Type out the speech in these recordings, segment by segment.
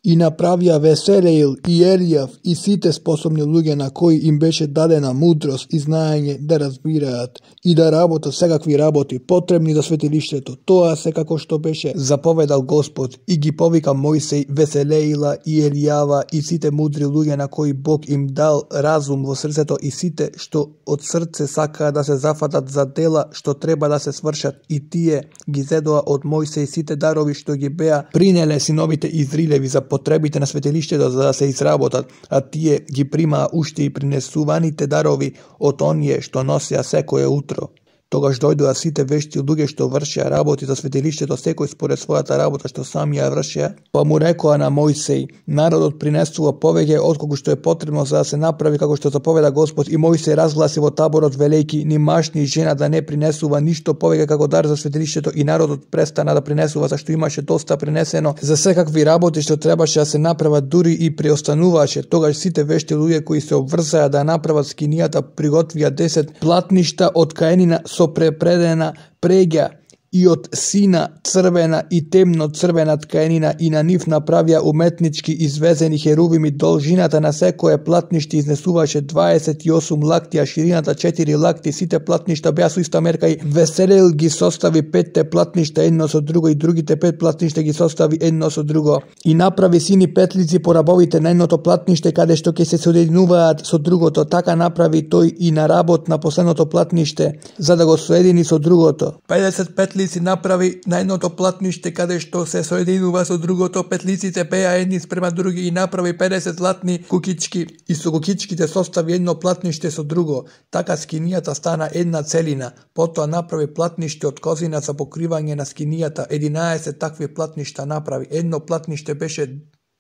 И направија Веселеил и Елијав и сите способни луѓе на кои им беше дадена мудрост и знаење да разбираат и да работат секакви работи потребни за светилиштето. Тоа се како што беше заповедал Господ и ги повика Мојсей, Веселеила и Елијава и сите мудри луѓе на кои Бог им дал разум во срцето и сите што од срце сакаат да се зафатат за дела што треба да се свршат и тие ги зедоа од Мојсей сите дарови што ги беа принеле синовите Израилеви за потребите на светилиштето за да се изработат, а тие ги примаа уште и принесуваните дарови од оние што носеа секое утро. Тогаш дојдоа сите вешти луѓе што вршеа работи за светилиштето, секој според својата работа што сами ја вршеа, па му рекоа на Мојсей: народот принесува повеќе отколку што е потребно за да се направи како што заповеда Господ. И Мојсей разгласи во таборот велејки: ни маж ни жена да не принесува ништо повеќе како дар за светилиштето, и народот престана да принесува зашто имаше доста принесено за секакви работи што требаше да се направат, дури и преостануваше. Тогаш сите вешти луѓе кои се обврзаа да направат скинијата приготвија 10 платништа од каенина со препредена преѓа и од сина црвена и темно црвена ткаенина и на нив направија уметнички извезени херувими. Должината на секое платниште изнесуваше 28 лакти, а ширината 4 лакти. Сите платништа беа со иста мерка и Веселеил ги состави 5 платништа едно со друго и другите 5 платништа ги состави едно со друго. И направи сини петлици по рабовите на едното платниште каде што ќе се соединуваат со другото. Така направи тој и на работ на последното платниште за да го соедини со другото. 50 петлици направи на едното платниште каде што се соединува со другото. Петлиците беа едни спрема други и направи 50 златни кукички и со кукичките состави едно платниште со друго. Така скинијата стана една целина. Потоа направи платниште од козина за покривање на скинијата. 11 такви платништа направи. Едно платниште беше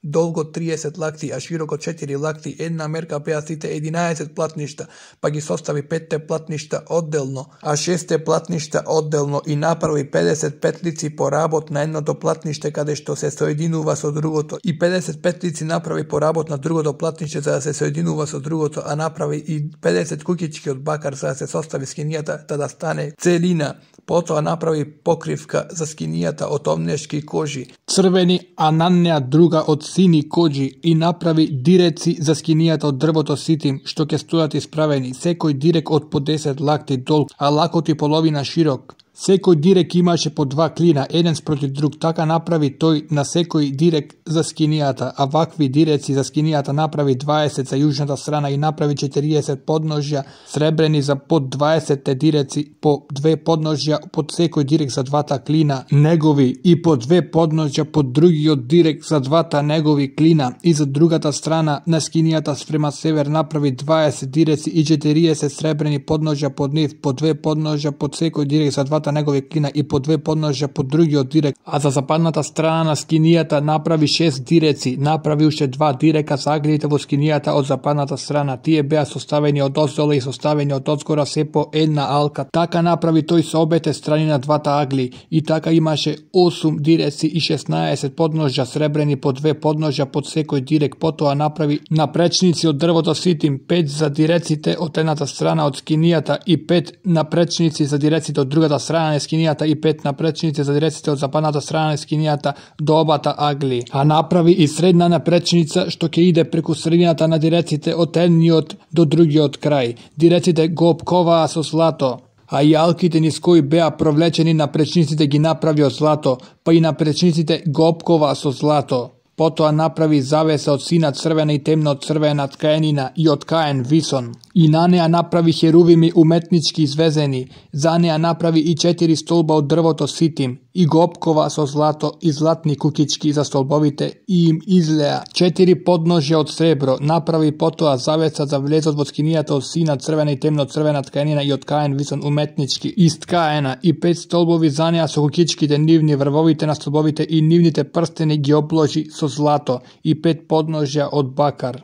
долго 30 лакти, а широко 4 лакти. Една мерка беа сите 11 платништа, па ги состави 5 платништа одделно, а 6 платништа одделно и направи 50 петлици по работ на едното платниште каде што се соединува со другото и 50 петлици направи по работ на другото платниште за да се соединува со другото, а направи и 50 кукички од бакар за да се состави скинијата да стане целина. Потоа направи покривка за скинијата од овнешки кожи црвени, а на неа друга од сини коџи, и направи диреци за скинијата од дрвото ситим што ќе стојат исправени, секој дирек од по 10 лакти долг, а лакот и половина широк. Секој дирек имаше по 2 клина, еден спротив друг. Така направи тој на секој дирек за скинијата, а вакви диреци за скинијата направи 20 за јужната страна и направи 40 подножја сребрени за под 20 диреци, по 2 подножја под секој дирек за двата клина негови и по 2 подножја под другиот дирек за двата негови клина. И за другата страна на скинијата спрема север направи 20 диреци и 40 сребрени подножја под нив, по 2 подножја под секој дирек за двата негови клина и по 2 подножја под другиот дирек. А за западната страна на скинијата направи 6 диреци, направи уште 2 дирека за аглите во скинијата од западната страна. Тие беа составени од оздола и составени од одзгора се по една алка. Така направи тој со обете страни на двата агли и така имаше 8 диреци и 16 подножја сребрени по 2 подножја под секој дирек. Потоа направи напречници од дрвото ситим, 5 за диреците од едната страна од скинијата и 5 напречници за диреците од другата страна на скинијата и 5 напречници за диреците од западната страна на скинијата до обата агли. А направи и средна напречница што ќе иде преку средината на диреците од едниот до другиот крај. Диреците го опковаа со злато, а и алките низ кои беа провлечени напречниците ги направи од злато, па и напречниците го опкова со злато. Потоа направи завеса од сина црвена и темно црвена ткаенина и од каен висон. И на неа направи херувими уметнички извезени. За неа направи и 4 столба од дрвото ситим и го опкова со злато и златни кукички за столбовите и им излеа 4 подножја од сребро. Направи потоа завеса за влезот во скинијата од сина црвена и темно црвена ткаенина и од каен висон уметнички исткаена и 5 столбови за неа со кукичките нивни, врвовите на столбовите и нивните прстени ги обложи со злато и 5 подножја од бакар.